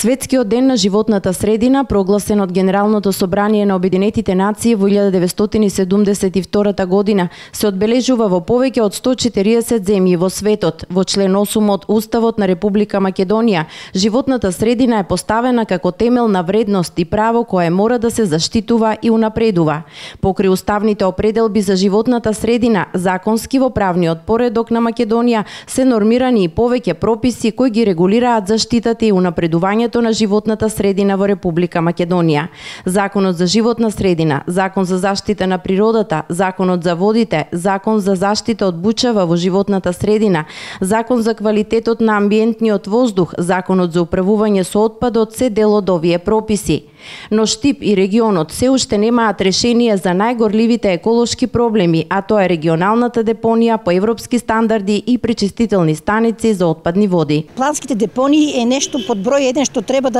Светскиот ден на животната средина, прогласен од Генералното собрание на Обединетите нации во 1972 година, се одбележува во повеќе од 140 земји во светот. Во член 8 од Уставот на Република Македонија, животната средина е поставена како темелна вредност и право кое мора да се заштитува и унапредува. Покри уставните определби за животната средина, законски во правниот поредок на Македонија се нормирани и повеќе прописи кои ги регулираат заштитата и унапредувањето на животната средина во Република Македонија. Законот за животна средина, Закон за заштита на природата, Законот за водите, Закон за заштита од бучава во животната средина, Закон за квалитетот на амбиентниот воздух, Законот за управување со отпадот се дел од овие прописи. Но Штип и регионот се уште немаат решение за најгорливите еколошки проблеми, а тоа е регионалната депонија по европски стандарди и пречистителни станици за отпадни води. Планските депонии е нешто под број 1 што треба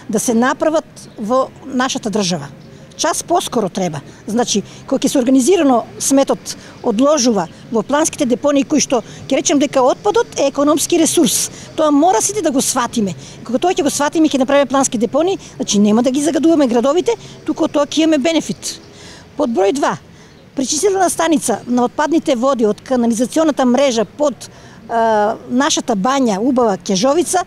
да се направат во нашата држава. Час поскоро треба. Значи, кога ќе се организирано сметот одложува во планските депонии кои што ќе речем дека отпадот е економски ресурс. Тоа мора сите да го сватиме. Кога тоа ќе го сватиме, ќе направиме плански депонии, значи нема да ги загадуваме градовите, туку тоа ќе имаме бенефит. Под број 2, пречистителна станица на отпадните води од канализационата мрежа под нашата бања убава Кежовица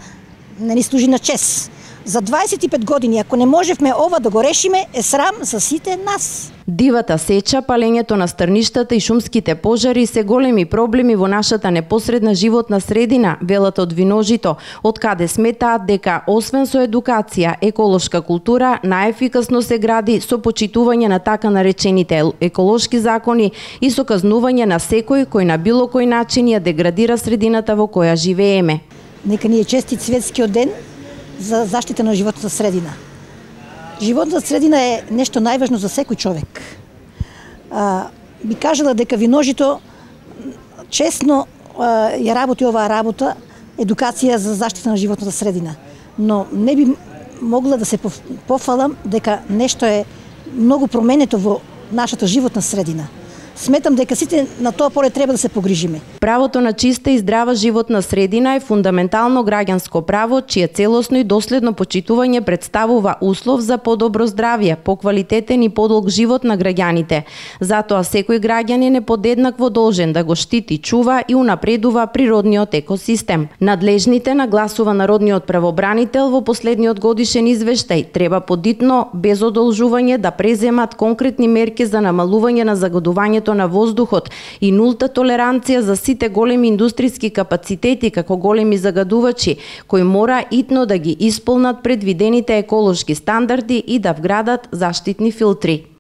не ни служи на чест. За 25 години, ако не можевме ова да го решиме, е срам за сите нас. Дивата сеча, палењето на стрништата и шумските пожари се големи проблеми во нашата непосредна животна средина, велат од Виножито, од каде сметаат дека освен со едукација, еколошка култура најефикасно се гради со почитување на така наречените еколошки закони и со казнување на секој кој на било кој начин ја деградира средината во која живееме. Нека ни е честит светскиот ден за заштита на животната средина. Животната средина е нешто најважно за секој човек. Би кажала дека Виножито честно ја работи оваа работа, едукација за заштита на животната средина. Но не би могла да се пофалам дека нешто е многу променето во нашата животна средина. Сметам дека сите на тоа поле треба да се погрижиме. Правото на чиста и здрава животна средина е фундаментално граѓанско право, чие целосно и доследно почитување представува услов за подобро здравје, поквалитетен и подолг живот на граѓаните. Затоа секој граѓанин е подеднакво должен да го штити, чува и унапредува природниот екосистем. Надлежните, нагласува народниот правобранител во последниот годишен извештај, треба подитно, без одолжување да преземат конкретни мерки за намалување на загадувањето на воздухот и нулта толеранција за сите големи индустријски капацитети како големи загадувачи, кои мора итно да ги исполнат предвидените еколошки стандарди и да вградат заштитни филтри.